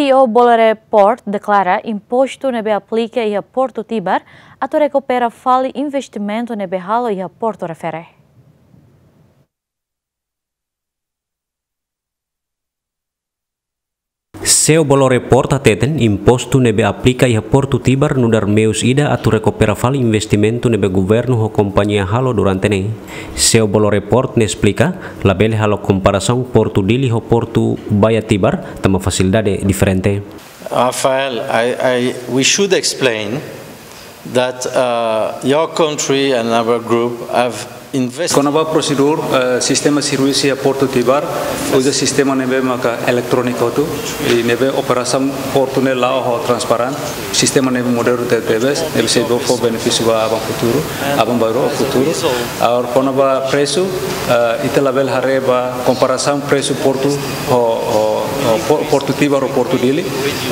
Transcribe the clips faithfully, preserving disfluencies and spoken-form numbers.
CEO Bolloré Port deklara impostu ne'ebé aplika iha Portu Tibar atu rekupera fali investimentu ne'ebé halo iha portu refere. CEO Bolloré Port hateten impostu ne'ebé aplika iha Portu Tibar nu'udar meius ida atu rekupera fali investimentu ne'ebé governu ho kompañia halo durante ne'e. CEO Bolloré Port ne'e esplika, labele halo komparasaun Portu Dili ho Portu Baía Tibar, tanba fasilidade diferente. Rafael, I, I, we should explain that, uh, your country and our group have invested. Kona-ba prosedur, eh, sistema servisu iha Portu Tibar, uza sistema ne'ebé maka eletróniku hotu, i ne'ebé operasaun portu ne'e la'o ho transparente, sistema ne'ebé modernu tebetebes, ne'ebé sei fó benefísiu ba aban futuru, aban-bainrua futuru. Agora kona-ba presu, eh, ita labele haree ba komparasaun presu portu ho, ho, ho Po-, Portu Tibar ho Portu Dili,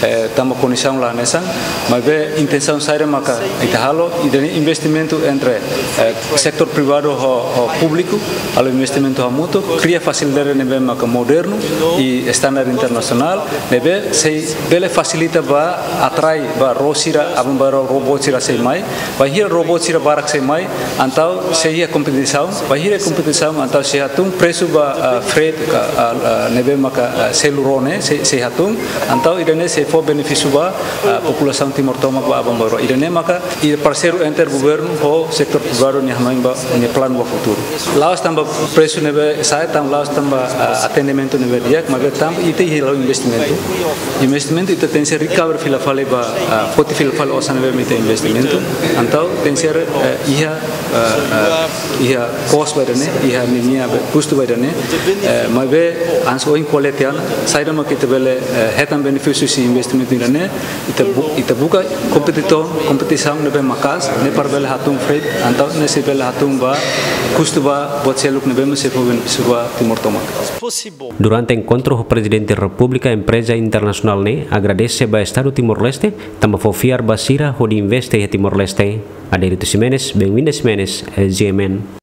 eh, tanba kondisaun la hanesan, maibé intensaun saida maka ita halo, ida-ne'e investimentu entre, eh, setór privadu ho, ho públiku, halo investimentu hamutuk, kria fasilidade ne'ebé maka modernu i standar internasionál, ne'ebé sei bele fasilita ba atrai ba ró sira, aban-bainrua robot sira sei mai, bainhira robot sira barak sei mai, entaun sei iha kompetisaun, bainhira kompetisaun, entaun sei hatún presu ba, ah, freight, ka, ah, ah, ne'ebé maka, ah, selu ró ne'e, sei, sei hatún, entaun ida-ne'e sei fó benefísiu ba, ah, populasaun Timor tomak ba aban-bainrua. Ida-ne'e maka, i parseiru entre governu ho setór privadu nia hanoin ba, nia planu ba futuru. La'ós tanba presu ne'ebé sa'e, tanba la'ós tanba, ah, atendimentu ne'ebé di'ak, maibé tanba ita iha la'o investimentu. Investimentu ita tenke recover fila fali ba, ah, foti fila fali osan ne'ebé mak ita investimentu. Entaun tenke, eh, iha, eh, eh, iha kos ba ida-ne'e, iha ninia be-, kustu ba ida-ne'e. Eh, maibé hanesan ohin ko'alia tiha ona, saida mak ita bele, eh, hetan benefísiu husi investimentu ida-ne'e, ita bu-, ita buka kompetitor, kompetisaun ne'ebé maka'as, ne'e para bele hatún freight, entaun ne'e sei bele hatún ba kustu ba buat seluk ne'ebé mak sei fó benefísiu ba Timor tomak. Durante enkontru ho Prezidente Repúblika, empreza internasionál ne'e agradese ba Estadu Timor-Leste, tanba fó fiar ba sira hodi investe iha Timor-Leste. Adérito Ximenes, Benvinda Ximenes, eh, G M N.